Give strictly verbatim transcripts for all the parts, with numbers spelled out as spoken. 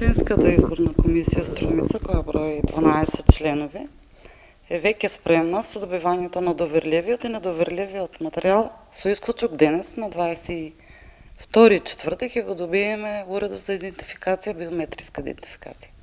Општинската изборна комисија Струмица, која брои дванаесет членови, е веќе спремна со добивањето на доверливиот и недоверливиот материјал, со исклучок денес на дваесет и втори четврток ќе го добиеме уредот за идентификација, биометриска идентификација.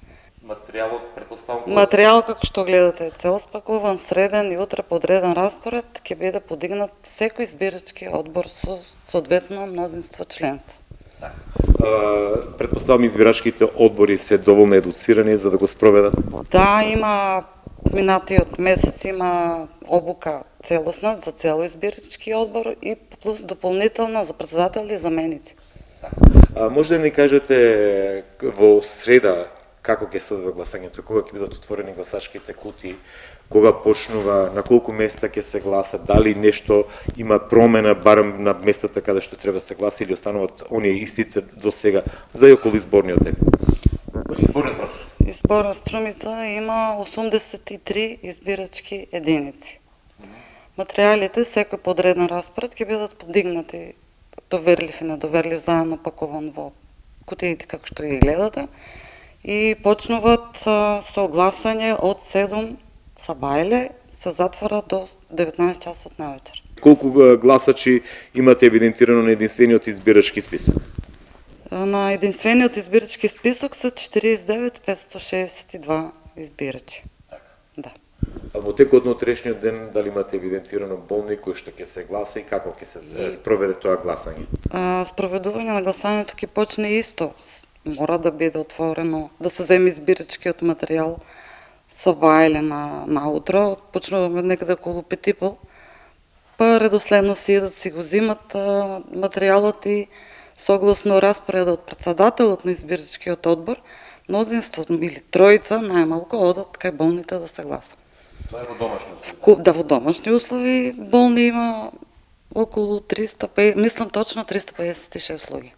Материјалот претпоставам Материјал како што гледате е цел спакуван, среден и утре подреден распоред ќе биде подигнат секој избирачки одбор со соодветно мнозинство членство. Uh, Предпоставам избирачките одбори се доволно едуцирани за да го спроведат? Да, има минатиот месец има обука целосна за цел избирачки одбор и плюс дополнителна за председател и заменици. Uh, може да ни кажете во среда како ќе се одвива гласањето, кога ќе бидат отворени гласачките кутии, кога почнува, на колку места ќе се гласа, дали нешто има промена барем на местата каде што треба се гласа или остануваат оние истите до сега за и околу изборниот ден? Изборниот процес. Изборот Струмица има осумдесет и три избирачки единици. Материјалите, секој подреден распоред ќе бидат подигнати доверлив и недоверлив заедно пакуван во кутиите како што ги гледате и почнуваат со гласање од седум сабајле, се затвора до деветнаесет часот навечер. Колку гласачи имате евидентирано на единствениот избирачки список? На единствениот избирачки список се четириесет и девет петстотини шеесет и два избирачи. Така. Да. А во текот на утрешниот ден дали имате евидентирано болни кои што ќе се гласа и како ќе се спроведе тоа гласање? А, спроведување на гласањето ќе почне исто. Мора да биде отворено, да се земе избирачкиот материјал сабајле на наутро, почнуваме некаде околу пет и пол, па редоследно си идат си го зимат а, материјалот и согласно распоредот председателот на избирачкиот одбор, мнозинството или тројца најмалку одат кај болните да се гласа. Тоа е во домашни услови? Да, во домашни услови болни има околу триста, мислам точно триста пеесет и шест луѓе.